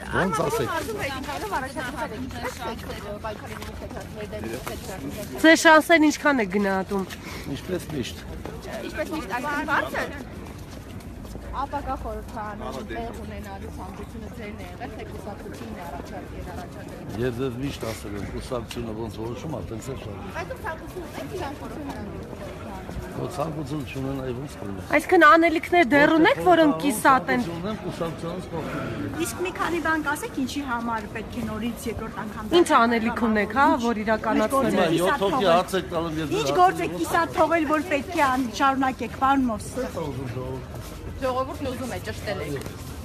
Ոնց ասեք։ Ձեր շանսերն ինչքան է գնահատում։ Ինչպես միշտ։ Ինչպես միշտ այդքան բարձր։ Ապակա խորհրդարանում տեղ ունենալու ցանկությունը ձերն է եղել, թե կուսակցությունն է առաջարկել։ Ես ձեզ միշտ ասել եմ, կուսակցությունը ոնց որոշում է, տենց է շարժվում։ Այդ ցանկությունն է իրան խորհրդարանում։ Ցանկություն չունեն այ ոնց կլինի։ Այսինքն անելիքներ դեռ ունեք, որոնք կիսատ են։ Ունեմ կուսակցությունից կողքին։ Իսկ մի քանի բան կասեք, ինչի համար պետք է նորից երկրորդ անգամ։ Ինչ անելիք ունեք, հա, որ իրականացնելու։ 7 հոգի հաց եք տալում ես։ Ինչ գործ եք կիսատ թողել, որ պետք է շարունակեք, պարոն Մովսես։ Ժողովուրդն ուզում է ճշտել եք։